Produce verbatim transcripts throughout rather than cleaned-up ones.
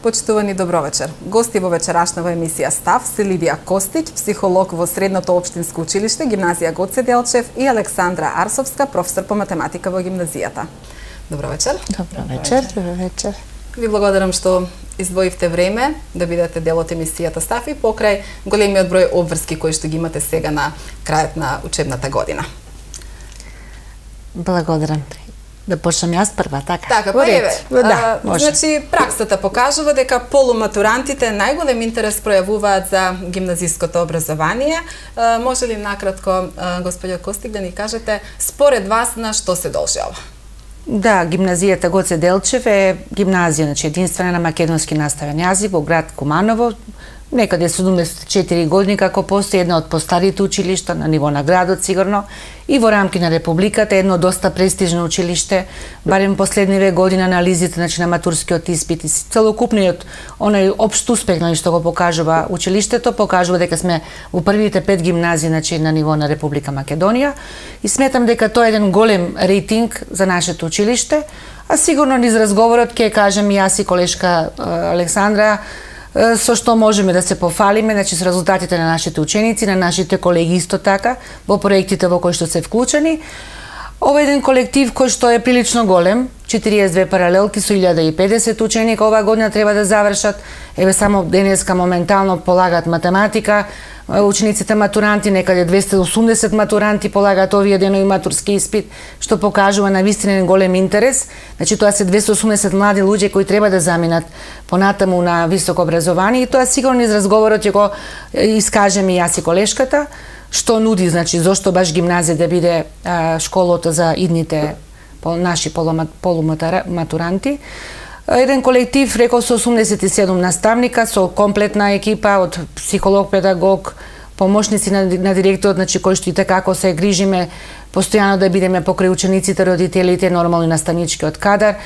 Почитувани, добро вечер. Гости во вечерашнава емисија Став се Лидија Костиќ, психолог во Средното општинско училиште, гимназија Гоце Делчев, и Александра Арсовска, професор по математика во гимназијата. Добро вечер. Добро вечер. Добро вечер. Ви благодарам што издвоивте време да бидете дел од емисијата Став и покрај големиот број обврски кои што ги имате сега на крајот на учебната година. Благодарам. Да почнам јас прва, така? Така, па еве. Да, може. Значи, праксата покажува дека полуматурантите најголем интерес пројавуваат за гимназиското образование. А, може ли накратко, а, господја Костиќ, да ни кажете според вас на што се должи ова? Да, гимназијата Гоце Делчев е гимназија, значи единствена на македонски наставен јазик во град Куманово. Некаде седумдесет и четири години како постои една од постарите училишта на ниво на градот сигурно и во рамки на републиката едно доста престижно училиште, барем последниве години анализите значи на матурскиот испит и целокупниот онај општ успех на што го покажува училиштето покажува дека сме во првите пет гимназии значи на ниво на Република Македонија и сметам дека тоа е еден голем рейтинг за нашето училиште, а сигурно низ разговорот ќе кажем и јас и колешка Александра со што можеме да се пофалиме, значи со резултатите на нашите ученици, на нашите колеги исто така, во проектите во кои што се вклучени. Ова е еден колектив кој што е прилично голем, четириесет и две паралелки со илјада и педесет ученика оваа година треба да завршат. Еве само денеска моментално полагаат математика, учениците матуранти, некаде двесте и осумдесет матуранти полагаат овие денови матурски испит, што покажува навистина голем интерес. Значи тоа се двесте и осумдесет млади луѓе кои треба да заминат понатаму на високо образование и тоа сигурно из разговорот ќе го искажеме и јас и колешката, што нуди, значи зошто баш гимназија да биде а, школата за идните наши полуматуранти. Еден колектив, рекол, со осумдесет и седум наставника, со комплетна екипа од психолог, педагог, помошници на, на директорот, значи кои што и како се грижиме постојано да бидеме покрај учениците, родителите, нормално и наставничкиот кадар.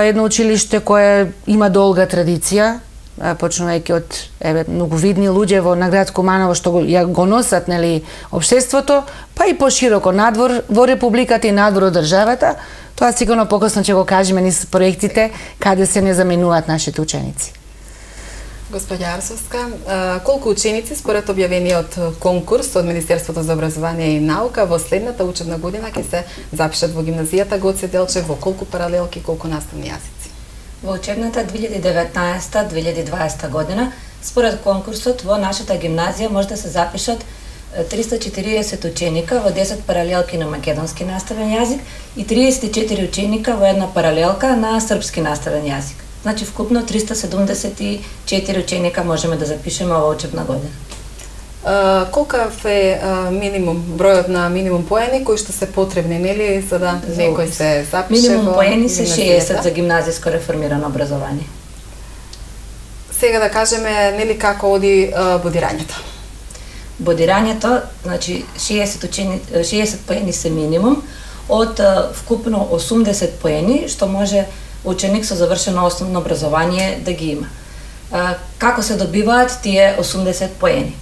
Едно училиште кое има долга традиција, почнувајќи од еве многу видни луѓе во на град Куманово што го, ја го носат нели општеството, па и пошироко надвор во републиката и надвор од државата. Тоа сигурно покосно ќе го кажеме низ проектите каде се не заменуваат нашите ученици. Господја Арсовска, колку ученици според објавениот конкурс од Министерството за образование и наука во следната учебна година ќе се запишат во гимназијата Гоце Делчев, во колку паралелки, колку наставни јазици? Во учебната две илјади и деветнаесета две илјади и дваесета година, според конкурсот во нашата гимназија може да се запишат триста и четириесет ученика во десет паралелки на македонски наставен јазик и триесет и четири ученика во една паралелка на српски наставен јазик. Значи вкупно триста седумдесет и четири ученика можеме да запишеме оваа учебна година. Uh, колкав е uh, минимум, бројот на минимум поени кои што се потребни, нели, за да за некој се запише? Минимум поени се шеесет за гимназиско реформирано образование. Сега да кажеме, нели, како оди uh, бодирањето? Бодирањето, значи шеесет, учени, шеесет поени се минимум, од uh, вкупно осумдесет поени, што може ученик со завршено основно образование да ги има. Uh, како се добиваат тие осумдесет поени?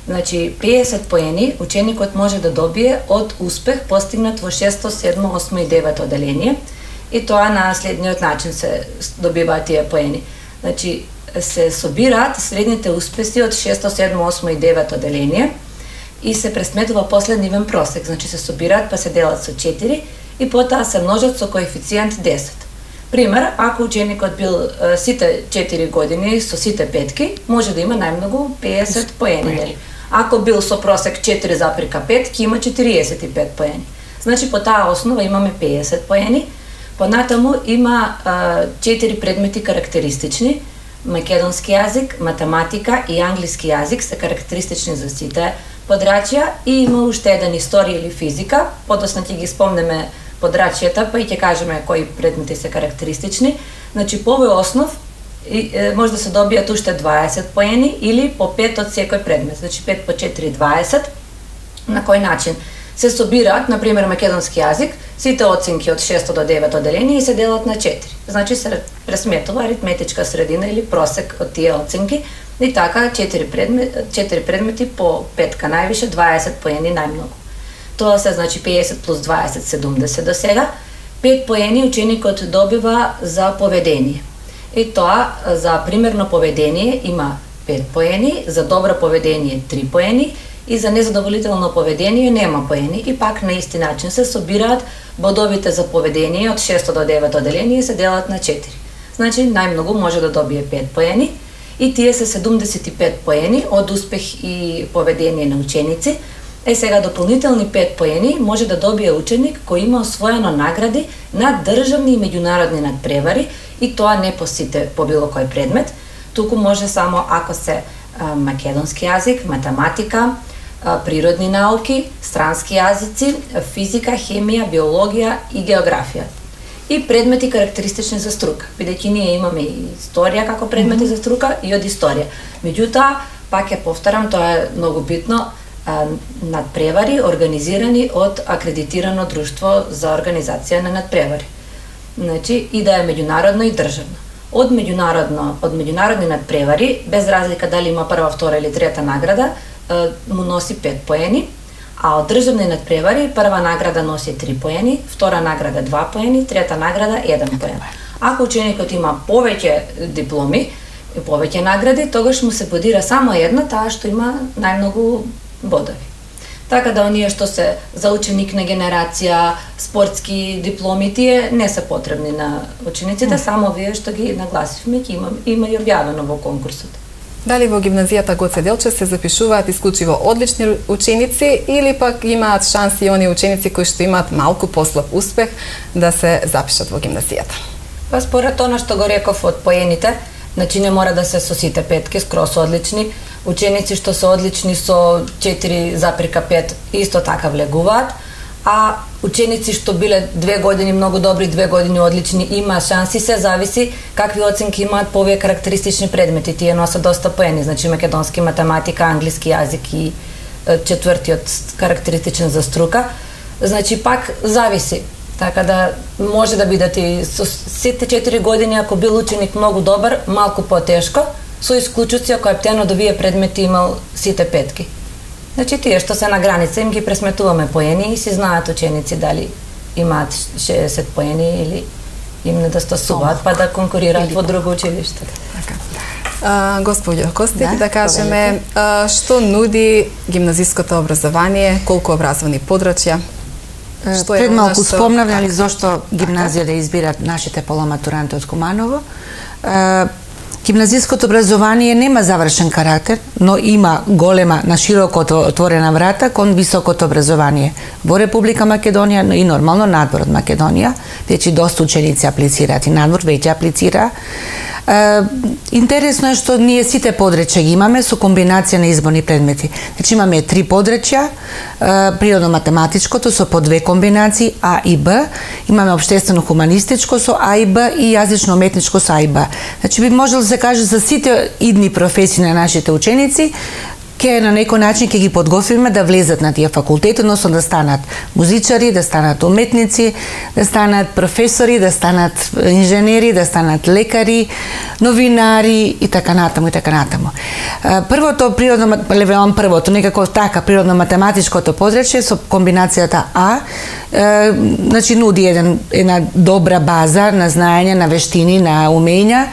Значи, педесет поени ученикот може да добие од успех постигнат во шесто, седмо, осмо и девето оделение и тоа на следниот начин се добиваат тие поени. Значи, се собираат средните успеси од шесто, седмо, осмо и девето оделение и се пресметува после нивен просек. Значи, се собираат па се делат со четири и потоа се множат со коефициент десет. Пример, ако ученикот бил сите четири години со сите петки, може да има најмногу педесет поени. Ако бил со просек четири запирка пет, ќе има четириесет и пет поени. Значи, по таа основа имаме педесет поени. Понатаму има четири предмети карактеристични. Македонски јазик, математика и англиски јазик се карактеристични за сите подрачја и има уште еден историја или физика. Подоцна ќе ги спомнеме подрачјата, па и ќе кажеме кои предмети се карактеристични. Значи, по овој основ и, е, може да се добијат уште дваесет поени или по пет од секој предмет. Значи, пет по четири дваесет. На кој начин? Се собираат, например, македонски јазик, сите оценки од шесто до девето оделение и се делат на четири. Значи, се пресметува аритметичка средина или просек од тие оценки и така четири предмети, четири предмети по петка највише, дваесет поени најмногу. Тоа се, значи, педесет плюс дваесет, седумдесет до сега. пет поени ученикот добива за поведение. И тоа за примерно поведение има пет поени, за добро поведение три поени и за незадоволително поведение нема поени. И пак на исти начин се собираат бодовите за поведение од шесто до девето оделение и се делат на четири. Значи најмногу може да добие пет поени и тие се седумдесет и пет поени од успех и поведение на ученици. Е сега дополнителни пет поени може да добие ученик кој има освоено награди на државни и меѓународни надпревари и тоа не по сите по било кој предмет, туку може само ако се а, македонски јазик, математика, а, природни науки, странски јазици, физика, хемија, биологија и географија. И предмети карактеристични за струка, бидејќи ние имаме и историја како предмети mm -hmm. за струка и од историја. Меѓутоа, пак ја повторам, тоа е многу битно, надпревари организирани од акредитирано друштво за организација на надпревари. Значи и да е меѓународно и државно. Од меѓународно, од меѓународни надпревари, без разлика дали има прва, втора или трета награда, му носи пет поени, а од државни надпревари прва награда носи три поени, втора награда два поени, трета награда еден поен. Ако ученикот има повеќе дипломи и повеќе награди, тогаш му се бодира само една, таа што има најмногу бодови. Така да оние што се за ученик на генерација, спортски дипломи, тие не се потребни на учениците, mm. само вие што ги нагласивме, ќе има, има и објавено во конкурсот. Дали во гимназијата Гоце Делчев се запишуваат исклучиво одлични ученици или пак имаат шанси оние ученици кои што имаат малку послаб успех да се запишат во гимназијата? Па според она што го реков од поените, значи не мора да се со сите петки, скрос одлични. Ученици што се одлични со четири запирка пет исто така влегуваат, а ученици што биле две години многу добри, две години одлични, има шанси, се зависи какви оценки имаат по овие карактеристични предмети. Тие носат доста поени, значи македонски, математика, англиски јазик и четвртиот карактеристичен за струка. Значи пак зависи. Така да може да бидат и со сите четири години, ако бил ученик многу добар, малку потешко, со исклучуци ако ептено до вие предмети имал сите петки. Значи тие што се на граница им ги пресметуваме поени и си знаат ученици дали имаат шеесет поени или им недостасуваат па да конкурираат во друго училиште. Така. А, господјо Костик, да, да кажеме а, што нуди гимназиското образование, колку образовни подрачја? Пред малку спомнав зошто гимназија да избират нашите полуматуранти од Куманово. Гимназиското образование нема завршен карактер, но има голема, на широко отворена врата кон високото образование во Република Македонија и нормално надвор од Македонија. Веќе доста ученици аплицираат и надвор веќе аплицира. Интересно е што ние сите подречја ги имаме со комбинација на изборни предмети. Значи имаме три подречја, природно-математичкото со по две комбинации А и Б, имаме општествено-хуманистичко со А и Б и јазично-уметничко со А и Б. Значи би можел да се каже за сите идни професии на нашите ученици, ке на некој начин ќе ги подготвиме да влезат на тие факултети, односно да станат музичари, да станат уметници, да станат професори, да станат инженери, да станат лекари, новинари и така натаму и така натаму. Првото природно, левеам првото, некако така природно-математичкото подречје со комбинацијата А, е, значи нуди еден, една добра база на знаење, на вештини, на умења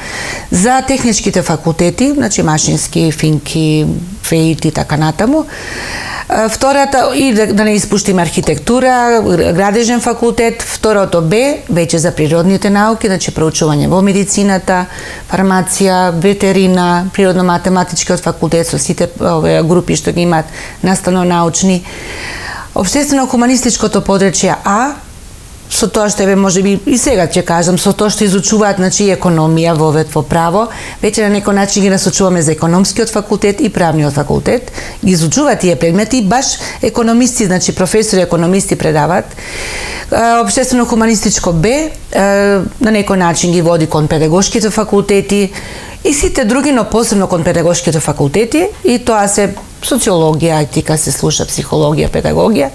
за техничките факултети, значи машински, финки, феит и така натаму. Втората, и да, да не испуштиме архитектура, градежен факултет. Второто Б, веќе за природните науки, значи проучување во медицината, фармација, ветерина, природно-математичкиот факултет со сите овие групи што ги имаат наставно-научни. Општествено-хуманистичкото подречје А, со тоа што еве можеби и сега ќе кажам, со тоа што изучуваат значи економија во вет во право, веќе на некој начин ги насочуваме за економскиот факултет и правниот факултет, ги изучуваат тие предмети, баш економисти, значи професори економисти предаваат. Општествено-хуманистичко Б на некој начин ги води кон педагошките факултети и сите други, но посебно кон педагошките факултети, и тоа се социологија, етика се слуша, психологија, педагогија.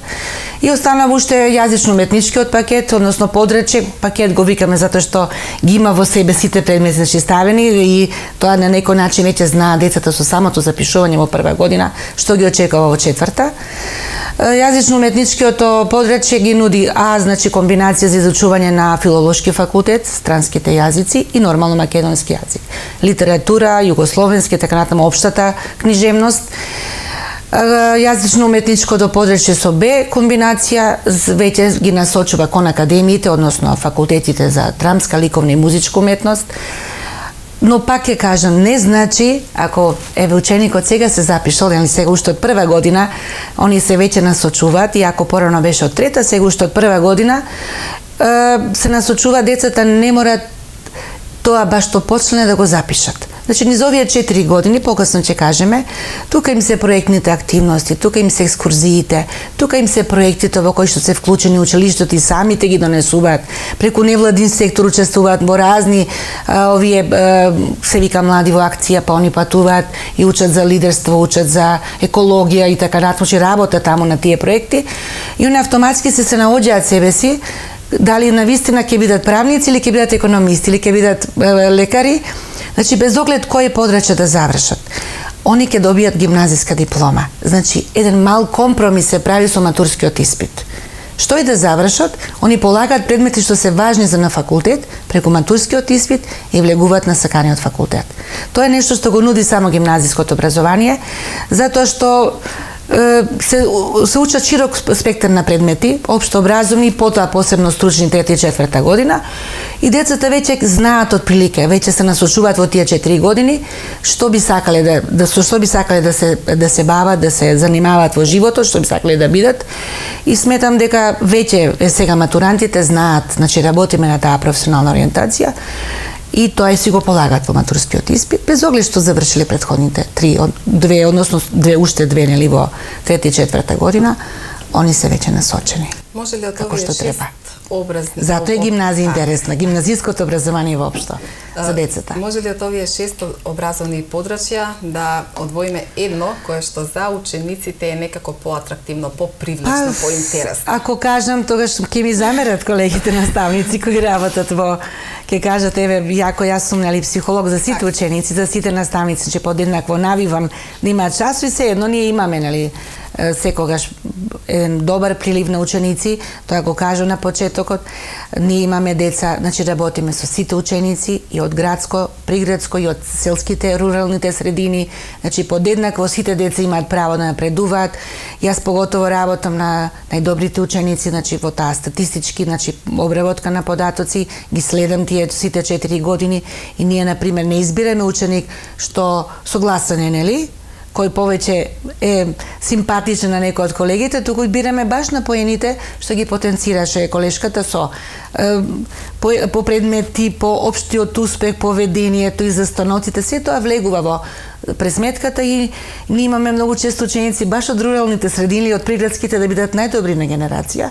И останава уште јазично-уметничкиот пакет, односно подрече пакет го викаме затоа што ги има во себе сите предмети ставени и тоа на некој начин веќе знаат децата со самото запишување во прва година што ги очекува во четврта. Јазично-уметничкиот подрече ги нуди А, значи комбинација за изучување на филолошки факултет, странските јазици и нормално македонски јазик. Литература, југословенски, така натаму општата книжевност. Јазично-уметничкото подрече со Б комбинација веќе ги насочува кон академиите, односно факултетите за драмска, ликовна и музичка уметност. Но пак ќе кажам, не значи, ако еве ученикот сега се запишал, или сега уште од прва година, они се веќе насочуваат, и ако порано беше од трета, сега уште од прва година, се насочува децата, не мора тоа баш што почне да го запишат. Значи, низ овие четири години, покасно ќе кажеме, тука им се проектните активности, тука им се екскурзиите, тука им се проектите во кои што се вклучени училиштето и самите ги донесуваат, преку невладин сектор учествуваат во разни а, овие, а, се вика млади во акција, па они патуваат и учат за лидерство, учат за екологија и така натаму, работа таму на тие проекти, и они автоматски се се наоѓаат себе си, дали навистина ќе бидат правници или ќе бидат економисти или ќе бидат е, лекари. Значи, без оглед кој подраче да завршат, они ќе добијат гимназиска диплома. Значи, еден мал компромис се прави со матурскиот испит. Што и да завршат, они полагаат предмети што се важни за на факултет, преку матурскиот испит и влегуваат на саканиот факултет. Тоа е нешто што го нуди само гимназиското образование, затоа што се, се учат широк спектар на предмети, општо образовни, потоа посебно стручни трета и четврта година, и децата веќе знаат од прилика, веќе се насочуваат во тие четири години што би сакале да, да со што би сакале да се да се бават, да се занимаваат во животот, што би сакале да бидат. И сметам дека веќе сега матурантите знаат, значи работиме на таа професионална ориентација. И тоа и си го полагат во матурскиот испит, без оглед што завршиле претходните три, две, односно две, уште две, нели, во трета и четврта година, они се веќе насочени. Може ли од овие шест образни? Затоа е гимназија интересна, гимназиското образование воопшто за децата. Може ли од овие шест образовни подрачја да одвоиме едно кое што за учениците е некако поатрактивно, попривлечно, па, поинтересно? Ако кажам, тогаш ќе ми замерат колегите наставници кои работат во, ќе кажат, еве, јако јас сум, нели, психолог за сите ученици, за сите наставници, че подеднакво навивам да имаат часови, се едно ние имаме, нели, секогаш еден добар прилив на ученици, тоа го кажу на почетокот. Ние имаме деца, значи работиме со сите ученици и од градско, приградско и од селските, руралните средини, значи подеднакво сите деца имаат право да напредуваат. Јас поготово работам на најдобрите ученици, значи во таа статистички, значи обработка на податоци, ги следам тие сите четири години и ние на пример не избираме ученик што согласен е, нели, кој повеќе е симпатичен на некој од колегите, туку бираме баш на поените што ги потенцираше колешката со е, по, по предмети, по општиот успех, поведението и застаноците, се тоа влегува во пресметката и ние имаме многу често ученици баш од руралните средини, од приградските да бидат најдобри на генерација.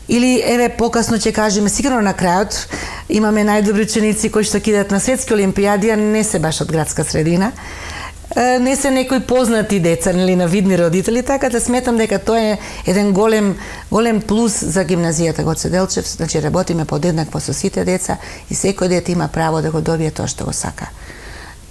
Или, еве, покасно ќе кажеме, сигурно на крајот имаме најдобри ученици кои што кидат на светски олимпијади, а не се баш од градска средина. Не се некои познати деца, нели, на видни родители, така да сметам дека тоа е еден голем голем плюс за гимназијата Гоце Делчев, значи работиме подеднакво со сите деца и секој дете има право да го добие тоа што го сака.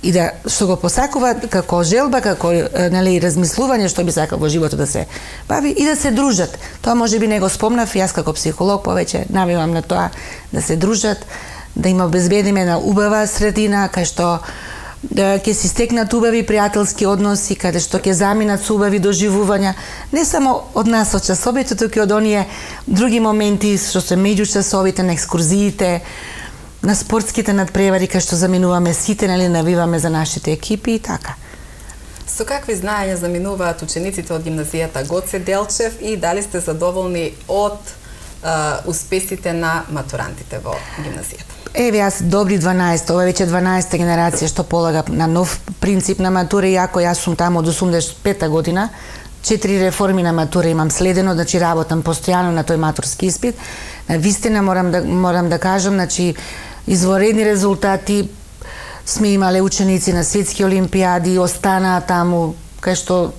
И да што го посакува како желба, како, нели, размислување што би сакал во животот да се бави и да се дружат. Тоа можеби не го спомнав, јас како психолог повеќе навивам на тоа да се дружат, да има обезбедиме на убава средина кај што да ќе си стекнат убави пријателски односи, каде што ќе заминат со убави доживувања, не само од нас од часовите, туку и од оние други моменти што се меѓу часовите, на екскурзиите, на спортските надпревари кај што заминуваме сите, нели, навиваме за нашите екипи и така. Со какви знаења заминуваат учениците од гимназијата Гоце Делчев и дали сте задоволни од а, успесите на матурантите во гимназијата? Еве, јас добри дванаесет, ова веќе дванаесета генерација што полага на нов принцип на матура, иако јас сум таму од осумдесет и пета година, четири реформи на матура имам следено, значи работам постојано на тој матурски испит. На вистина морам да морам да кажам, значи изворедни резултати сме имале ученици на светски олимпијади, останаа таму кај што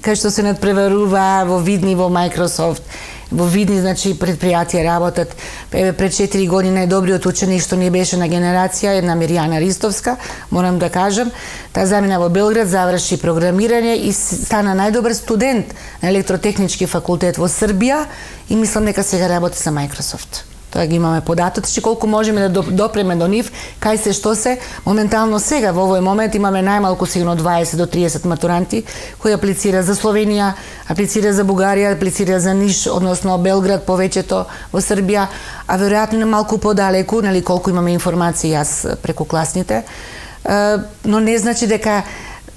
кај што се надпреварува во видни во Microsoft, во видни значи предпријатија работат. Еве пред четири години најдобриот ученик што ни беше на генерација, една Миријана Ристовска, морам да кажам, таа замина во Белград, заврши програмирање и стана најдобар студент на електротехнички факултет во Србија и мислам дека сега работи за Microsoft. Тоа ги имаме податоци, колку можеме да допреме до нив, кај се што се. Моментално сега во овој момент имаме најмалку сигурно дваесет до триесет матуранти кои аплицира за Словенија, аплицира за Бугарија, аплицира за Ниш, односно Белград, повеќето во Србија, а веројатно малку подалеку, нели колку имаме информации јас преку класните. Но не значи дека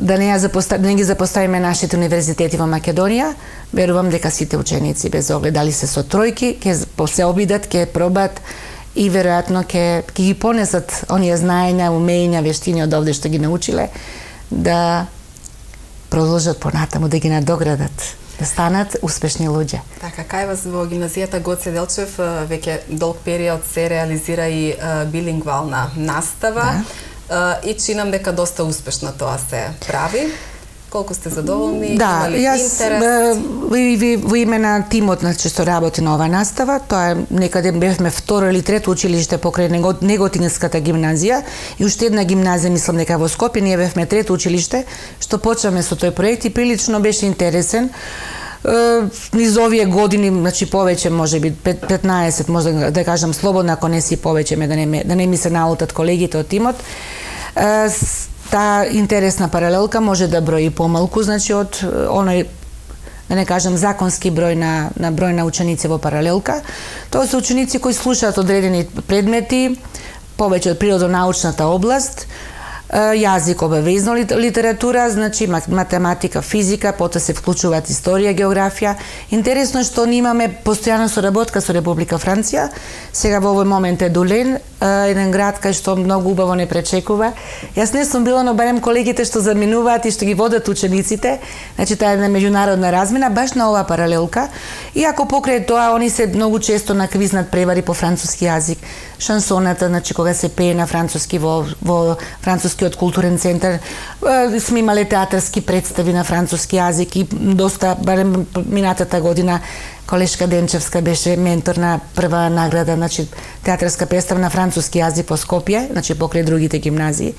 да не, ја запоста... не ги запоставиме нашите универзитети во Македонија. Верувам дека сите ученици, без оглед дали се со тројки, ќе се обидат, ќе пробат и веројатно ќе ги понесат оние знаења, умења, вештини од овде што ги научиле, да продолжат понатаму, да ги надоградат, да станат успешни луѓе. Така, кај вас во гимназијата Гоце Делчев веќе долг период се реализира и билингвална настава. Да. И чинам дека доста успешно тоа се прави. Колку сте задоволни? Да, јас во име на тимот значи што работи на оваа настава, тоа е некаде бевме второ или трето училиште покрај Неготинската гимназија и уште една гимназија, мислам дека во Скопје, ние бевме трето училиште што почнавме со тој проект и прилично беше интересен. Низ овие години, значи повеќе, можеби петнаесет, може да кажам слободно, ако не си повеќе, да не, да не ми се наутат колегите од тимот. Таа интересна паралелка може да брои помалку, значи од оној, да не кажам, законски број на, на број на ученици во паралелка. Тоа се ученици кои слушаат одредени предмети, повеќе од природонаучната област, јазик, обавезно литература, значи математика, физика, потоа се вклучуваат историја, географија. Интересно е што ние имаме постојана соработка со Република Франција. Сега во овој момент е Дулен, еден град кај што многу убаво не пречекува. Јас не сум била, но барем колегите што заминуваат и што ги водат учениците, значи таа е една меѓународна размена баш на оваа паралелка. И ако покрај тоа они се многу често наквизнат превари по француски јазик, шансоната, значи кога се пее на француски во во францускиот културен центар, сме имале театарски представи на француски јазик и доста, барем минатата година, колешка Денчевска беше ментор на прва награда, значи театарска представа на француски јазик по Скопје, значи покрај другите гимназии,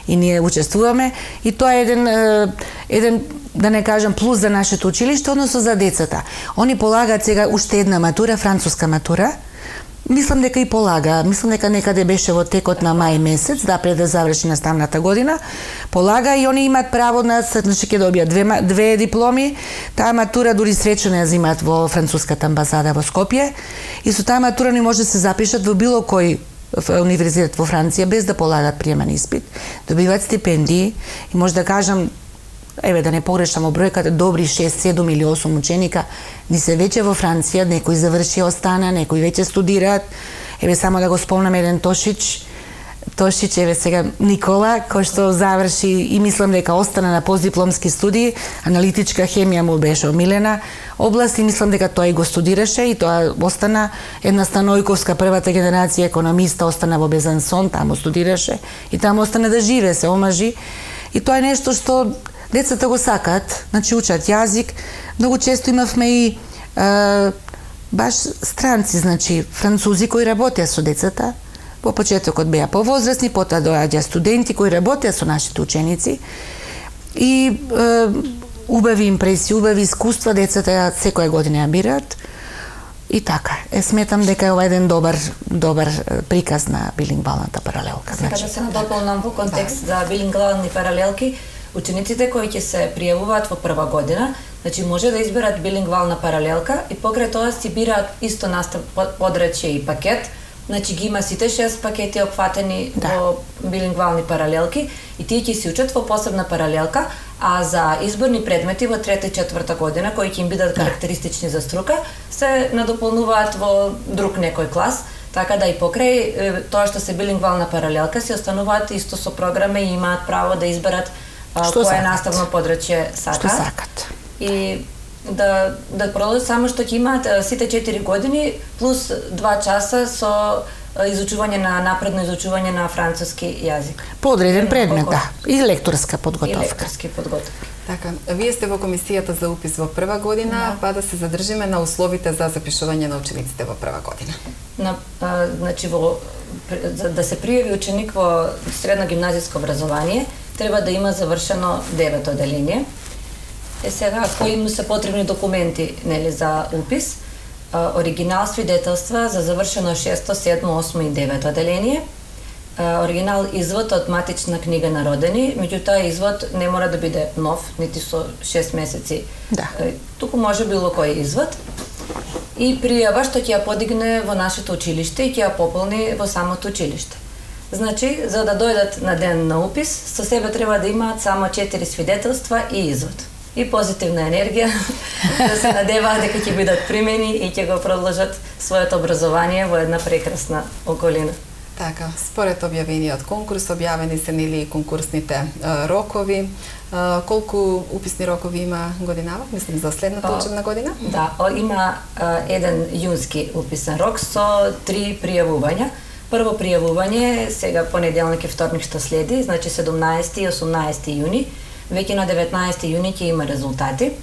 и ние учествуваме и тоа е еден еден да не кажам плюс за нашето училиште, односно за децата. Они полагаат сега уште една матура, француска матура. Мислам дека и полага, мислам дека некаде беше во текот на мај месец, да пред да заврши наставната година, полага и они имаат право на, значи ќе добијат две, две дипломи. Таа матура дури свечено ја земаат во француската амбасада во Скопје и со таа матура ни може да се запишат во било кој универзитет во Франција без да полагат приемен испит, добиваат стипендии и може да кажам, еве да не погрешам во бројката, добри шест, седум или осум ученика ни се веќе во Франција, некои заврши остана, некои веќе студираат. Еве само да го спомнам еден Тошич, Тошич, еве сега Никола, кој што заврши и мислам дека остана на постдипломски студии, аналитичка хемија му беше омилена област и мислам дека тој го студираше и тоа остана. Една Станојковска, првата генерација економиста, остана во Безансон, таму студираше и таму остана да живее, се омажи. И тоа е нешто што децата го сакаат, значи учат јазик. Многу често имавме и е, баш странци, значи французи кои работеа со децата. Во почетокот беа повозрасни, потоа доаѓа студенти кои работеа со нашите ученици. И е, убави импресии, убави искуства децата секоја година ја бираат. И така, е, сметам дека е ова еден добар добар приказ на билингвалната паралелка. Сега да се надополнам во контекст за билингвални паралелки. Учениците кои ќе се пријавуваат во прва година, значи може да изберат билингвална паралелка и покрај тоа си бираат исто настав подрачје и пакет. Значи ги има сите шест пакети опфатени да. Во билингвални паралелки и тие ќе се учат во посебна паралелка, а за изборни предмети во трета и четврта година кои ќе им бидат карактеристични за струка, се надополнуваат во друг некој клас. Така да и покрај тоа што се билингвална паралелка се остануваат исто со програма и имаат право да изберат кое наставно подрачје сакаат. Што сакат. И да да продолжат само што ќе имаат сите четири години плюс два часа со изучување на напредно изучување на француски јазик. По одреден предмет, да. И лекторска подготовка. И лекторски подготовка. Така, вие сте во комисијата за упис во прва година, да. Па да се задржиме на условите за запишување на учениците во прва година. На, а, значи, во, за да се пријави ученик во средно гимназиско образование, треба да има завршено девето оделение. Е сега, кои му се потребни документи, нели, за упис? А, оригинал свидетелства за завршено шесто, седмо, осмо и девето оделение, оригинал извод од матична книга на родени, меѓутоа извод не мора да биде нов, нити со шест месеци. Да. Туку може било кој извод. И пријава што ќе ја подигне во нашето училиште и ќе ја пополни во самото училиште. Значи, за да дојдат на ден на упис, со себе треба да имаат само четири свидетелства и извод. И позитивна енергија, да се надеваат дека ќе бидат примени и ќе го продолжат своето образование во една прекрасна околина. Така, според објавениот конкурс, објавени се нели и конкурсните а, рокови. А, колку уписни рокови има годинава, мислим за следната О, учебна година? Да, о, има а, еден јунски уписен рок со три пријавувања. Прво пријавување сега понеделник и вторник што следи, значи седумнаесети и осумнаесети јуни. Веќе на деветнаесети јуни ќе има резултати.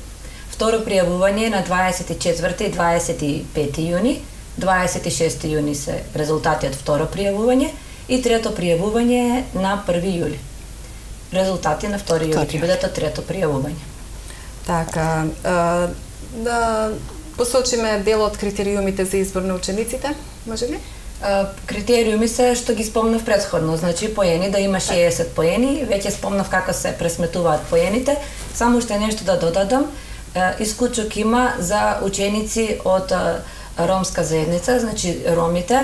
Второ пријавување на дваесет и четврти и дваесет и пети јуни. дваесет и шести јуни се резултати од второ пријавување и трето пријавување на први јули. Резултати на втори јули ќе бидат од трето пријавување. Така, а, да посочиме дел од критериумите за избор на учениците, може ли? А, критериуми се што ги спомнав претходно, значи поени да има шеесет поени, веќе спомнав како се пресметуваат поените, само уште нешто да додадам, исклучок има за ученици од ромска заедница, значи ромите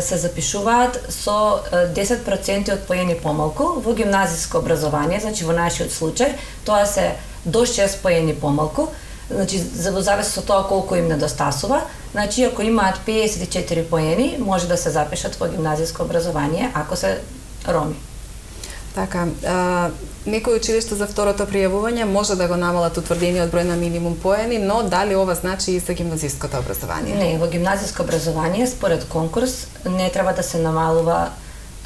се запишуваат со десет проценти од поени помалку во гимназиско образование, значи во нашиот случај тоа се до шест поени помалку, значи за во зависност од тоа колку им недостасува, значи ако имаат педесет и четири поени, може да се запишат во гимназиско образование ако се роми. Така, а, некои училишта за второто пријавување може да го намалат утврдениот број на минимум поени, но дали ова значи и за гимназиското образование? Не, во гимназиско образование според конкурс не треба да се намалува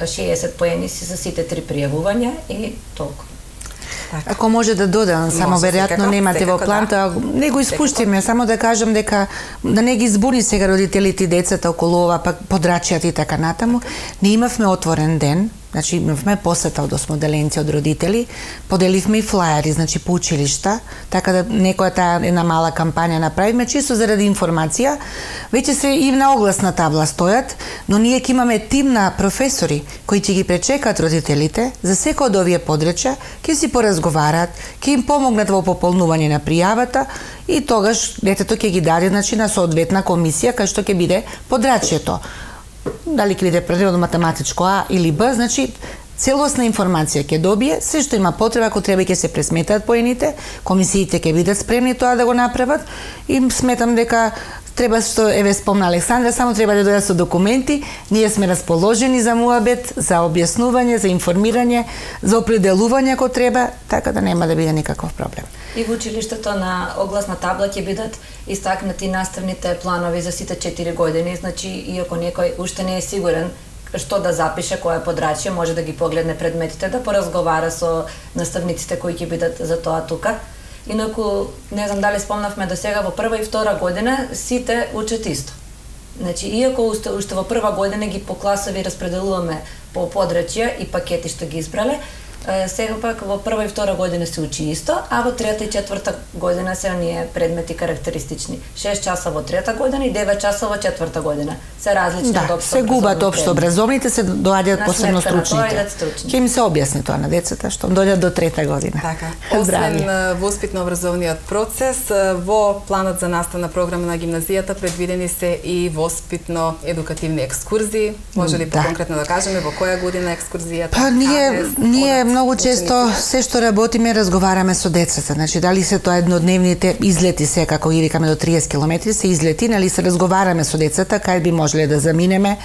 шеесет поени си за сите три пријавувања и толку. Така. Ако може да додам, само веројатно немате во план, тоа не го испуштиме, само да кажам дека да не ги збуни сега родителите и децата околу ова, пак подрачјата и така натаму. Не имавме отворен ден, значи имавме посета од осмоделенци од родители, поделивме и флаери, значи по училишта, така да некоја таа една мала кампања направиме, чисто заради информација. Веќе се и на огласна табла стојат, но ние ќе имаме тим на професори кои ќе ги пречекат родителите за секој од овие подрачја, ќе си поразговараат, ќе им помогнат во пополнување на пријавата и тогаш детето ќе ги даде значи на соодветна комисија кај што ќе биде подрачјето. Дали ќе биде предметот математичко А или Б, значи целосна информација ќе добие, се што има потреба, ако треба ќе се пресметаат поените, комисиите ќе бидат спремни тоа да го направат и сметам дека треба, што еве спомна Александра, само треба да дојдат со документи, ние сме расположени за муабет, за објаснување, за информирање, за определување ако треба, така да нема да биде никаков проблем. И во училиштето на огласна табла ќе бидат истакнати наставните планови за сите четири години, значи и ако некој уште не е сигурен што да запише, која подрачје, може да ги погледне предметите, да поразговара со наставниците кои ќе бидат за тоа тука. Инаку, не знам дали спомнавме до сега, во прва и втора година сите учат исто. Значи, иако уште, уште во прва година ги по класови распределуваме по подрачја и пакети што ги избрале, сега пак во прва и втора година се учи исто, а во трета и четврта година се оние предмети карактеристични. шест часа во трета година и девет часа во четврта година. Се различни да, од општо се губат општо образовните, се доаѓаат посебно стручните. Ќе им се објасни тоа на децата што доаѓаат до трета година. Така. Освен воспитно-образовниот процес, во планот за наставна програма на гимназијата предвидени се и воспитно-едукативни екскурзии. Може ли поконкретно да, да кажеме во која година екскурзијата? Па ние ние многу често се што работиме разговараме со децата, значи дали се тоа еднодневните излети се како ги викаме до триесет километри се излети, нали се разговараме со децата кај би можеле да заминеме.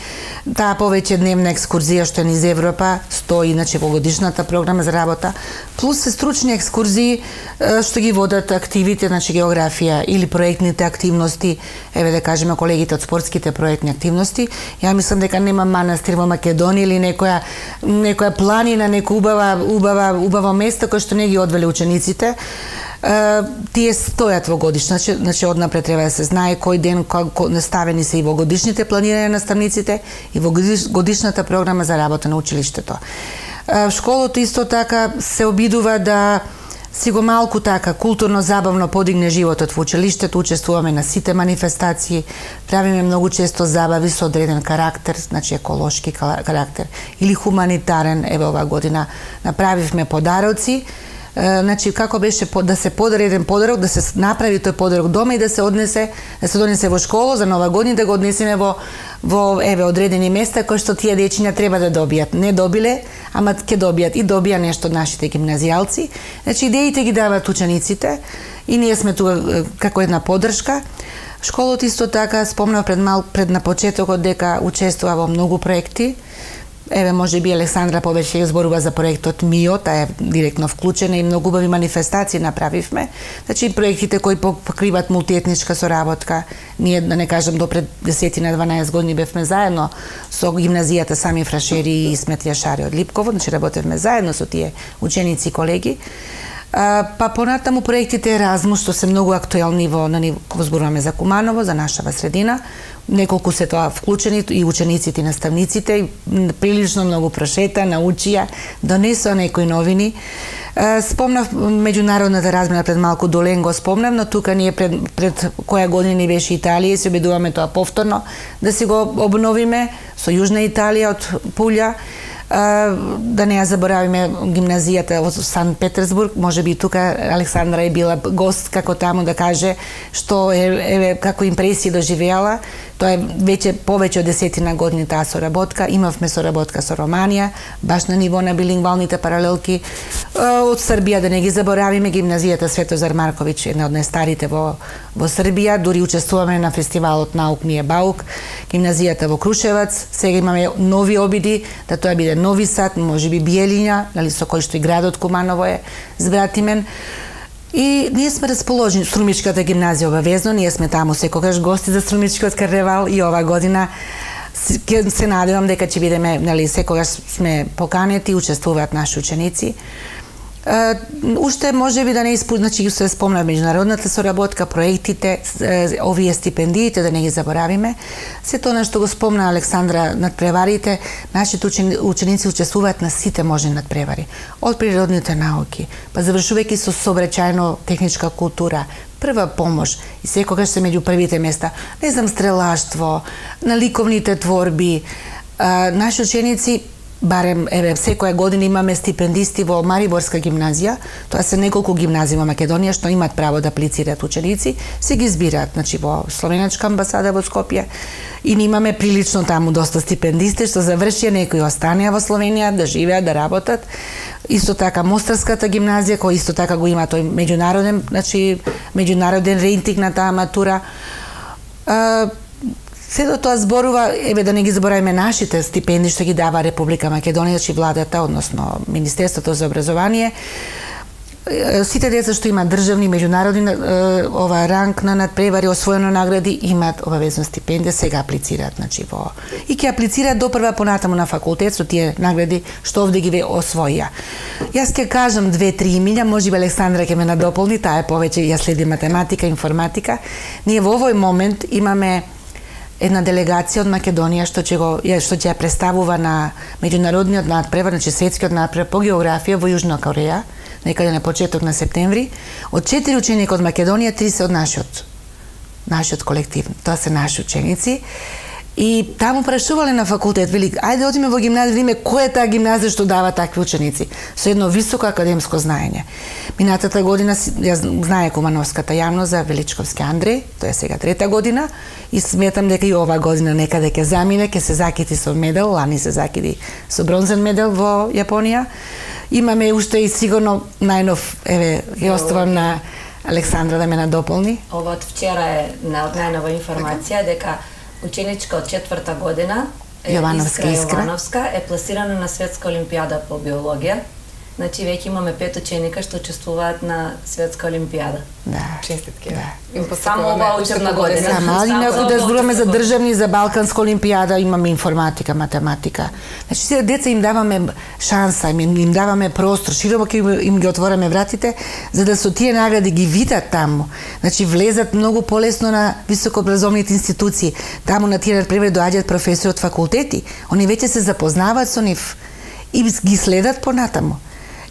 Таа повеќе дневна екскурзија што е низ Европа стои иначе во годишната програма за работа, плюс се стручни екскурзии што ги водат активите, значи географија или проектните активности, еве да кажеме колегите од спортските проектни активности. Ја мислам дека нема манастир во Македонија или некоја некоја планина, нека убава убава, убаво место кој што не ги одвели учениците. Тие стојат во годишна, значи, значи однапред треба да се знае кој ден кој наставени се и во годишните планирања на наставниците и во годишната програма за работа на училиштето. Школото исто така се обидува да си го малку така културно забавно подигне животот во училиштето, учествуваме на сите манифестации, правиме многу често забави со одреден карактер, значи еколошки карактер или хуманитарен. Еве оваа година направивме подароци. Значи како беше да се подари еден подарок, да се направи тој подарок дома и да се однесе, да се донесе во школа за Нова година, да го однесеме во во еве одредени места кои што тие дечиња треба да добијат. Не добиле, ама ќе добијат и добија нешто од нашите гимназијалци. Значи идеите ги даваат учениците и ние сме тука како една поддршка. Школото исто така спомнав пред мал пред на почетокот дека учествува во многу проекти. Еве, може би Александра повеќе зборува за проектот МИО, таа е директно вклучена и многу убави манифестации направивме. Значи, проектите кои покриваат мултиетничка соработка. Ние, да не кажам, до пред десет на дванаесет години бевме заедно со гимназијата Сами Фрашери и Исмет Јашари од Липково, значи работевме заедно со тие ученици и колеги. А, па понатаму проектите Еразмус, што се многу актуелни во, на ниво, зборуваме за Куманово, за нашава средина. Неколку се тоа вклучени и учениците и наставниците, прилично многу прошета, научија, донесоа некои новини. Спомнав меѓународната размена пред малку Долен го спомнав, но тука ние пред, пред која година ни беше Италија и се обидуваме тоа повторно да си го обновиме со Јужна Италија од Пулја. Да не ја заборавиме гимназијата во Санкт Петерсбург, може би тука Александра е била гост како таму да каже што е, еве како импресии доживеала. Тоа е веќе повеќе од десетина години таа соработка. Имавме соработка со Романија, баш на ниво на билингвалните паралелки. Од Србија да не ги заборавиме, гимназијата Светозар Марковиќ, една од најстарите во во Србија, дури учествуваме на фестивалот Наук ми е баук, гимназијата во Крушевац. Сега имаме нови обиди да тоа биде Нови Сад, можеби Биелиња, нали, со кој што и градот Куманово е збратимен. И ние сме расположени, Струмичката гимназија обавезно, ние сме таму секогаш гости за Струмичкиот карневал и оваа година ќе се надевам дека ќе бидеме, нали, секогаш сме поканети, учествуваат наши ученици. Uh, уште може би да не испу... значи се спомна меѓународната соработка, проектите, овие стипендиите, да не ги заборавиме. Се тоа што го спомна Александра надпреварите, нашите ученици учествуваат на сите можни надпревари. Од природните науки, па завршувајќи со сообраќајно техничка култура, прва помош и секогаш се меѓу првите места. Не знам, стрелаштво, на ликовните творби. Uh, наши ученици барем, еве, секоја година имаме стипендисти во Мариборска гимназија, тоа се неколку гимназии во Македонија што имаат право да аплицираат ученици, се ги избираат, значи во Словенечка амбасада во Скопје, и имаме прилично таму доста стипендисти што завршија, некои останеа во Словенија да живеат, да работат. Исто така Мостарската гимназија, која исто така го има тој меѓународен, значи меѓународен рейтинг на таа матура. Сето тоа зборува, еве да не ги забораваме нашите стипендии што ги дава Република Македонија, значи владата, односно Министерството за образование. Сите деца што имаат државни, меѓународни ова ранг на надпревари, освоено награди, имаат обавезна стипендија, сега аплицираат, значи во и ќе аплицираат до прва понатаму на факултет со тие награди што овде ги освоија. Јас ќе кажам две-три имиња, можеби Александра ќе ме надополни, таа е повеќе, ја следи математика, информатика. Ние во овој момент имаме една делегација од Македонија што ќе го што ќе ја представува на меѓународниот надпревар, значи светскиот надпревар по географија во Јужна Кореја, некаде на почеток на септември. Од четири ученика од Македонија, три се од нашиот нашиот колектив. Тоа се наши ученици. И таму прашувале на факултет, вели, ајде одиме во гимназија, видиме која е таа гимназија што дава такви ученици, со едно високо академско знаење. Минатата година, јас знае кумановската јавност за Величковски Андреј, тоа е сега трета година, и сметам дека и ова година некаде ќе замине, ќе се закити со медал, лани се закиди со бронзен медал во Јапонија. Имаме уште и сигурно најнов, еве, ја оставам на Александра да ме надополни. Ова од вчера е најнова информација дека ученичка од четврта година, Јовановска Искра Јовановска, е пласирана на Светска олимпијада по биологија Значи веќе имаме пет ученика што учествуваат на светска олимпијада. Да. Честитки. Да. Им само оваа учебна година. Само, али ако да зборуваме за државни, за балканска олимпијада, имаме информатика, математика. Значи се деца им даваме шанса, им, им даваме простор, широко им, им ги отвораме вратите, за да со тие награди ги видат таму. Значи влезат многу полесно на високообразовните институции. Таму на тие например доаѓаат професори од факултети. Они веќе се запознаваат со нив и ги следат понатаму.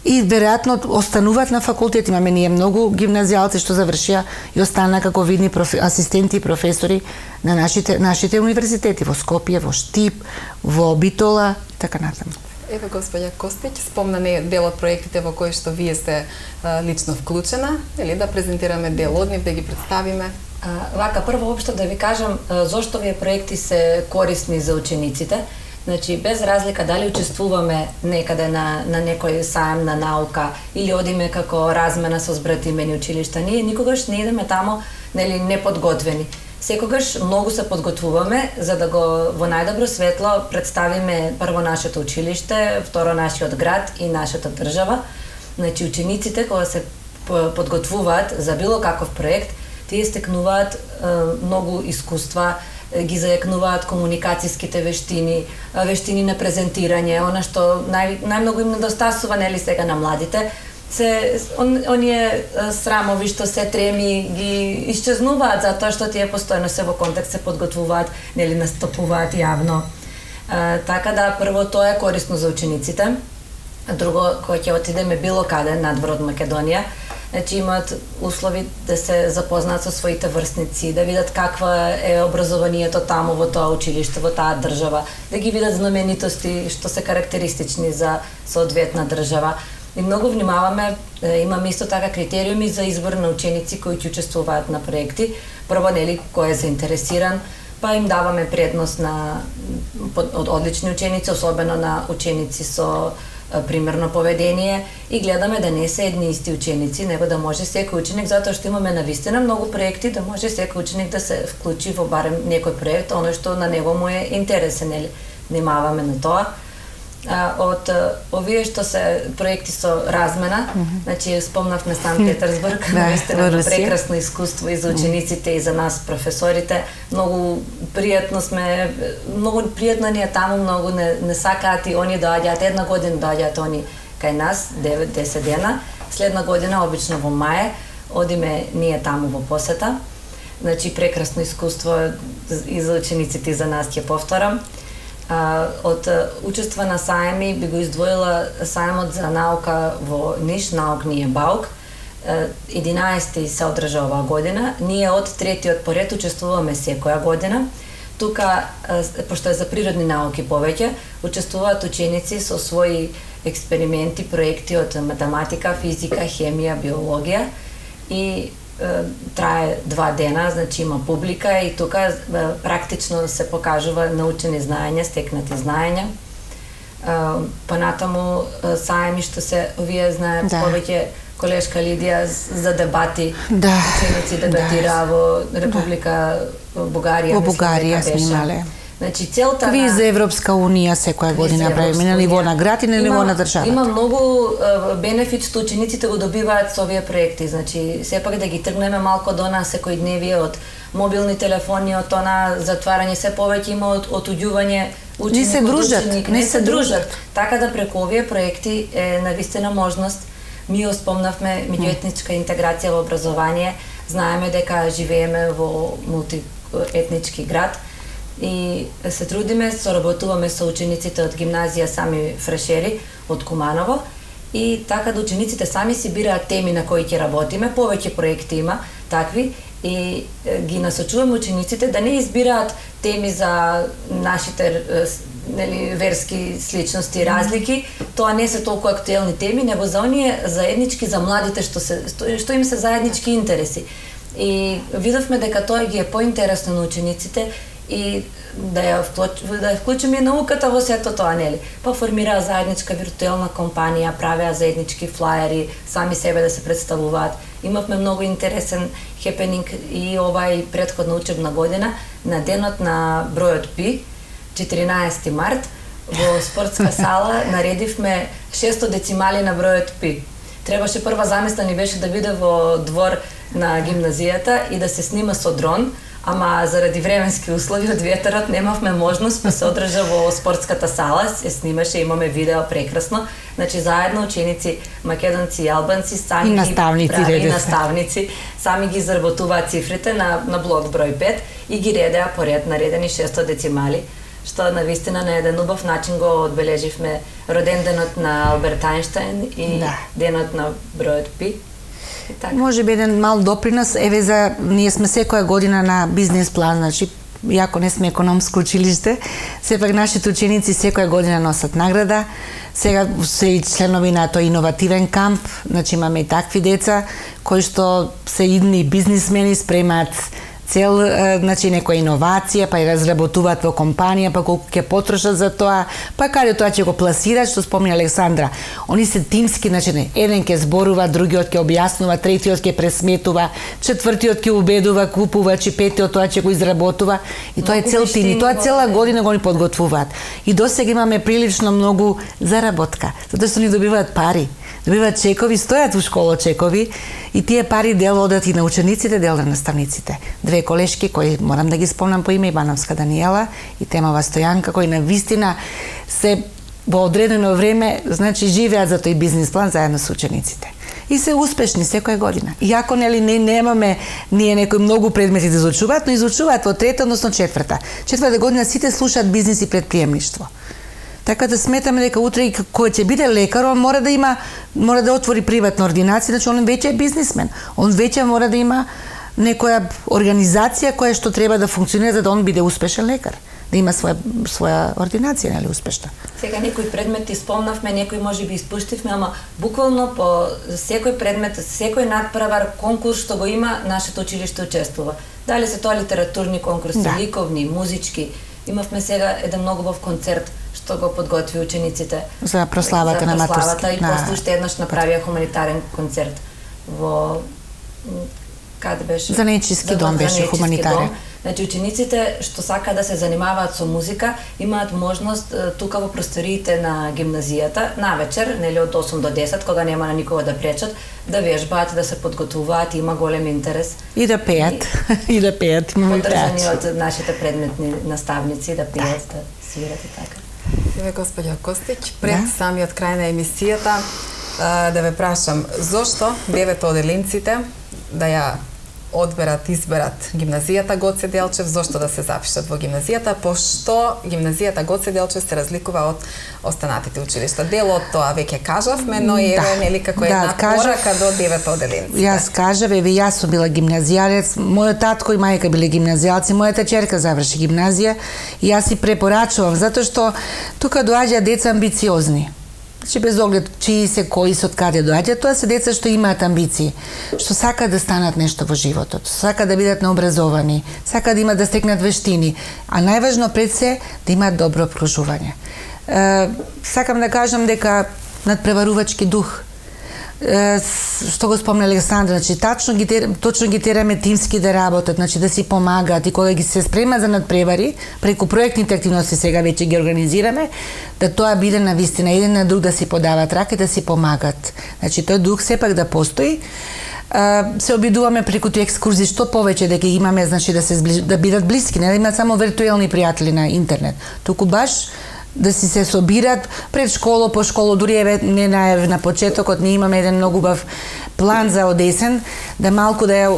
И веројатно остануваат на факултет. Имаме ние многу гимназијалци што завршија и останаа како видни профи, асистенти и професори на нашите нашите универзитети во Скопје, во Штип, во Битола и така натаму. Еве господја Костиќ спомна не дел од проектите во кои што вие сте а, лично вклучена, или да презентираме дел од нив, да ги представиме. А, вака прво општо да ви кажам а, зошто овие проекти се корисни за учениците. Значи, без разлика дали учествуваме некаде на, на некој саем на наука или одиме како размена со збратимени училишта, ние никогаш не идеме тамо нели неподготвени. Секогаш многу се подготвуваме за да го во најдобро светло представиме прво нашето училиште, второ нашиот град и нашата држава. Значи, учениците кога се подготвуваат за било каков проект, тие стекнуваат е, многу искуства, ги зајакнуваат комуникацијските вештини, вештини на презентирање, она што нај, најмногу им недостасува нели сега на младите, се он, оние срамови што се треми ги исчезнуваат затоа што тие постојано се во контекст се подготвуваат, нели настапуваат јавно. А, така да прво тоа е корисно за учениците. Друго, кога ќе отидеме било каде надвор од Македонија, значи имаат услови да се запознаат со своите врсници, да видат каква е образованието таму во тоа училиште, во таа држава, да ги видат знаменитости што се карактеристични за соодветна држава. И многу внимаваме, имаме исто така критериуми за избор на ученици кои ќе учествуваат на проекти. Прво, нели, кој е заинтересиран, па им даваме предност на од одлични ученици, особено на ученици со примерно поведение, и гледаме да не се едни исти ученици, него да може секој ученик, затоа што имаме навистина многу проекти, да може секој ученик да се вклучи во барем некој проект, оно што на него му е интересен, нели, внимаваме на тоа. А, од овие што се проекти со размена, mm -hmm. значи спомнавме Санкт Петерсбург, навистина прекрасно искуство и за учениците и за нас професорите. Многу пријатно сме, многу пријатно ни е таму, многу не, не сакаат и они доаѓаат една година, доаѓаат они кај нас девет до десет дена. Следна година обично во мај одиме ние таму во посета. Значи прекрасно искуство и за учениците и за нас, ќе повторам. Uh, од uh, учества на саеми би го издвоила саемот за наука во Ниш, Наукније Баук. Uh, единаесети се одржа оваа година. Ние од третиот поред учествуваме секоја година. Тука, uh, пошто е за природни науки повеќе, учествуваат ученици со своји експерименти, проекти од математика, физика, хемија, биологија и трае два дена, значи има публика и тука практично се покажува научени знаења, стекнати знаења. Понатаму саеми што се, вие знаат да. Повеќе колешка Лидија за дебати, да. Ученици дебатираа да. Во Република да. Бугарија. Во Бугарија снимале. Значи целта Ви на... за Европска унија секоја година правиме на ниво на град и на ниво на држава. Има многу uh, бенефит што учениците го добиваат со овие проекти. Значи сепак да ги тргнеме малку до нас секојдневие од мобилни телефони, од она затварање, се повеќе има од отуѓување ученик. Не се дружат, ученик, не, не се дружат. Така да преку овие проекти е навистина можност. Ми спомнавме меѓуетничка интеграција во образование. Знаеме дека живееме во мултиетнички град и се трудиме, соработуваме со учениците од гимназија Сами Фрешери од Куманово и така да учениците сами си бираат теми на кои ќе работиме, повеќе проекти има такви и ги насочуваме учениците да не избираат теми за нашите нели верски сличности и разлики, тоа не се толку актуелни теми, него за оние заеднички за младите што се што им се заеднички интереси. И видовме дека тоа ги е поинтересно на учениците и да ја вклучиме, да ја вклучиме и науката во сето тоа, нели? Па формираа заедничка виртуелна компанија, правеа заеднички флаери, сами себе да се представуваат. Имавме многу интересен хепенинг и овај претходна учебна година на денот на бројот Пи, четиринаесети март, Во спортска сала наредивме шесто децимали на бројот пи. Требаше прва замисла ни беше да биде во двор на гимназијата и да се снима со дрон, ама заради временски услови од ветерот немавме можност, па се одржа во спортската сала, се снимаше, имаме видео прекрасно. Значи заедно ученици македонци и албанци сами и наставници, ги прави, и наставници сами ги изработуваат цифрите на на блок број пет и ги редеа поред наредени шесто децимали, што навистина на еден убав начин го одбележивме роденденот на Алберт Ајнштајн и да. денот на бројот пи. Може би еден мал допринос, еве за ние сме секоја година на бизнес план, значи иако не сме економско училиште, сепак нашите ученици секоја година носат награда. Сега се и членови на тој иновативен камп, значи имаме и такви деца кои што се идни бизнисмени, спремаат цел, значи некоја иновација, па ја разработуваат во компанија, па колку ќе потрошат за тоа, па каде тоа ќе го пласираат, што спомни Александра. Они се тимски, значи не, еден ќе зборува, другиот ќе објаснува, третиот ќе пресметува, четвртиот ќе убедува, купува, чи петиот тоа ќе го изработува. И тоа е цел тим, и тоа цела година го ни подготвуваат. И досега имаме прилично многу заработка, затоа што ни добиваат пари. Добиваат чекови, стојат во школа чекови и тие пари дел одат и на учениците, дел на наставниците. Две колешки кои морам да ги спомнам по име, Ивановска Даниела и Темова Стојанка, кои на вистина се во одредено време, значи живеат за тој бизнис план заедно со учениците. И се успешни секоја година. Иако нели не немаме ние некои многу предмети да изучуваат, но изучуваат во трета, односно четврта. Четврта година сите слушаат бизнис и предприемништво. Така да сметаме дека утре и кој ќе биде лекар, он мора да има, мора да отвори приватна ординација, значи он веќе е бизнисмен. Он веќе мора да има некоја организација која што треба да функционира за да он биде успешен лекар, да има своја своја ординација, нели успешна. Сега некои предмети спомнавме, некои можеби испуштивме, ама буквално по секој предмет, секој надпревар, конкурс што го има, нашето училиште учествува. Дали се тоа литературни конкурси, да. ликовни, музички. Имавме сега еден многу убав концерт што го подготви учениците за прославата на матурски. За прославата и на... после уште еднаш направија хуманитарен концерт во каде беше? За Нечиски дом беше хуманитарен. Значи учениците што сака да се занимаваат со музика имаат можност тука во просториите на гимназијата навечер, нели од осум до десет, кога нема на никого да пречат, да вежбаат, да се подготвуваат, има голем интерес. И да пеат, и, и да пеат. Подржани од нашите предметни наставници да пеат, да, да свират и така. Еве господја Костич, пред да? самиот крај на емисијата да ве прашам, зошто девет оделинците да ја одберат, изберат гимназијата Гоце Делчев, зошто да се запишат во гимназијата, пошто гимназијата Гоце Делчев се разликува од останатите училишта. Дел од тоа веќе кажавме, но и еве нели како една да, порака до девет оделинци. Јас кажав, еве јас сум била гимназијалец, мојот татко и мајка биле гимназијалци, мојата ќерка заврши гимназија и јас си препорачувам затоа што тука доаѓаат деца амбициозни. Че без оглед чии се, кои се, од каде доаѓаат, тоа се деца што имаат амбиции, што сакаат да станат нешто во животот, сакаат да бидат наобразовани, сакаат да имат да стекнат вештини, а најважно пред се да имаат добро обкружување. Е, сакам да кажам дека надпреварувачки дух, е, што го спомна Александра, значи тачно ги точно ги тераме тимски да работат, значи да си помагаат и кога ги се спремат за надпревари, преку проектните активности сега веќе ги организираме, да тоа биде на вистина еден на друг да си подават рака и да си помагат. Значи тој дух сепак да постои. Се обидуваме преку тој екскурзии што повеќе дека имаме, значи да се сближ... да бидат блиски, не да имаат само виртуелни пријатели на интернет, туку баш да си се собират пред школа, по школа, дури еве не најав на почетокот, ние имаме еден многу убав план за одесен, да малку да ја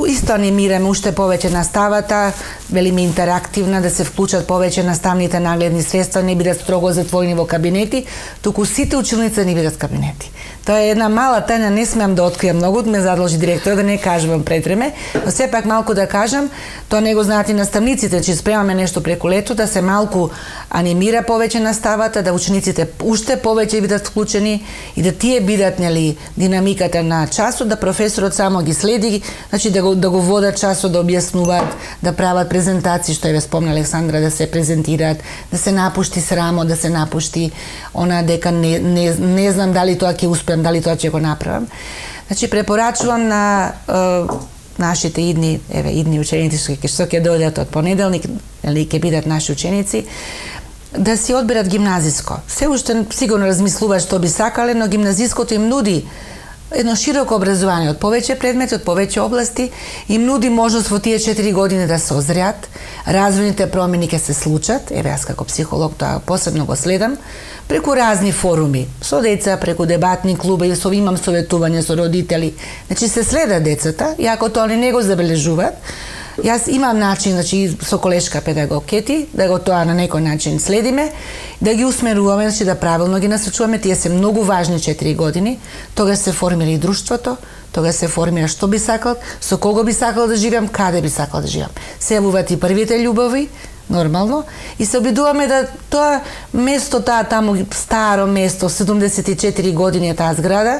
исто анимираме уште повеќе наставата, велиме интерактивна, да се вклучат повеќе наставните нагледни средства, не бидат строго затворени во кабинети, туку сите училници не бидат кабинети. Тоа е една мала тајна, не смеам да откријам многу, ме задолжи директор да не кажувам пред време, но сепак малку да кажам, тоа не го знаат и наставниците, че спремаме нешто преку лето, да се малку анимира повеќе наставата, да учениците уште повеќе бидат вклучени и да тие бидат нели динамиката на часот, да професорот само ги следи, значи да го да го водат часот, да објаснуваат, да прават презентации, што е спомна Александра, да се презентираат, да се напушти срамо, да се напушти она дека не не, не знам дали тоа ќе успеам, дали тоа ќе го направам. Значи препорачувам на е, нашите идни, еве идни ученици што ќе дојдат од понеделник, или ќе бидат наши ученици, да си одберат гимназиско. Се уште сигурно размислуваат што би сакале, но гимназиското им нуди едно широко образование од повеќе предмети, од повеќе области, им нуди можност во тие четири години да се озреат, развојните промени ќе се случат, еве јас како психолог тоа посебно го следам, преку разни форуми, со деца, преку дебатни клубови, со имам советување со родители. Значи се следат децата, и ако тоа не го забележуваат, јас имам начин, значи со колешка педагог Кети, да го тоа на некој начин следиме, да ги усмеруваме, значи да правилно ги насочуваме, тие се многу важни четири години, тогаш се формира и друштвото, тогаш се формира што би сакал, со кого би сакал да живеам, каде би сакал да живеам. Се јавуваат и првите љубови, нормално, и се обидуваме да тоа место, таа таму старо место, седумдесет и четири години е таа зграда,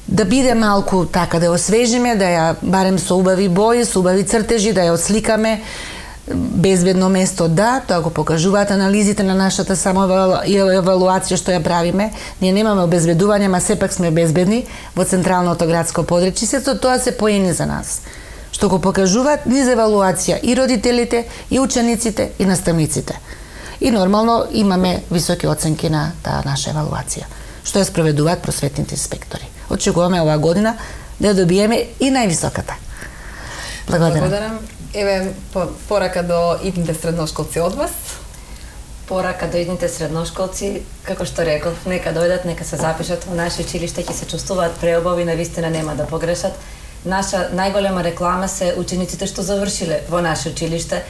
да биде малку така, да ја освежиме, да ја барем со убави бои, со убави цртежи, да ја осликаме. Безбедно место, да, тоа го покажуваат анализите на нашата самоевалуација што ја правиме. Ние немаме обезбедување, ама сепак сме безбедни во централното градско подречје. Сето тоа се поени за нас, што го покажуваат низ евалуација и родителите, и учениците, и наставниците. И нормално имаме високи оценки на таа наша евалуација, што ја спроведуваат просветните инспектори. Очекуваме оваа година да ја добиеме и највисоката. Благодарам. Благодарам. Еве порака до идните средношколци од вас. Порака до идните средношколци, како што реков, нека дојдат, нека се запишат во наше училиште, ќе се чувствуваат преубави, навистина нема да погрешат. Наша најголема реклама се учениците што завршиле во наше училиште,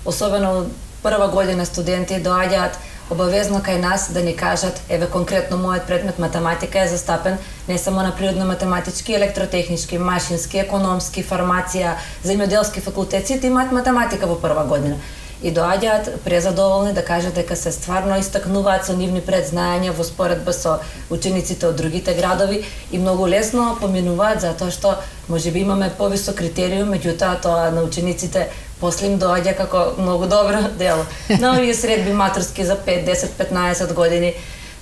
особено прва година студенти доаѓаат обавезно кај нас да ни кажат, еве конкретно мојот предмет математика е застапен не само на природно-математички, електротехнички, машински, економски, фармација, земјоделски факултет, сите имаат математика во прва година. И доаѓаат презадоволни да кажат дека се стварно истакнуваат со нивни предзнаења во споредба со учениците од другите градови и многу лесно поминуваат затоа што можеби имаме повисок критериум, меѓутоа тоа на учениците после им доаѓа како многу добро дело. На овие средби матурски за пет, десет, петнаесет години,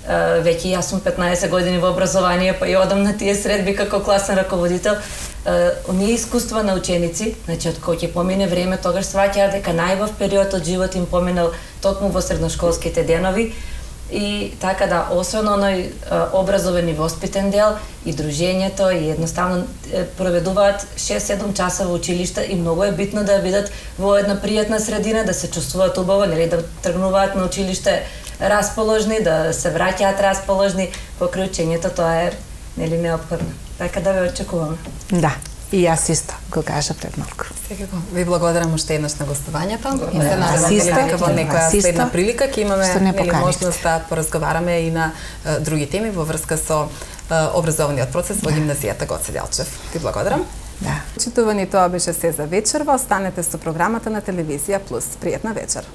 веќе јас сум петнаесет години во образование, па и одам на тие средби како класен раководител. Оние искуства на ученици, значи од кога ќе помине време, тогаш сваќаат дека најубав период од живот им поминал токму во средношколските денови. И така да, освен оној образовен и воспитен дел, и дружењето, и едноставно проведуваат шест-седум часа во училиште и многу е битно да бидат во една пријатна средина, да се чувствуваат убаво, нели, да тргнуваат на училиште расположни, да се враќаат расположни покрај учењето, тоа е, нели, неопходно. Така да ве очекуваме. Да. И јас исто го кажа пред малку. Секако. Ви благодарам уште еднаш на гостувањето. И се надевам дека во некоја следна прилика ќе имаме нели можност да поразговараме и на uh, други теми во врска со uh, образовниот процес во гимназијата Гоце Делчев. Ви благодарам. Да. Читувани, тоа беше се за вечерва. Останете со програмата на Телевизија Плюс. Пријатна вечер.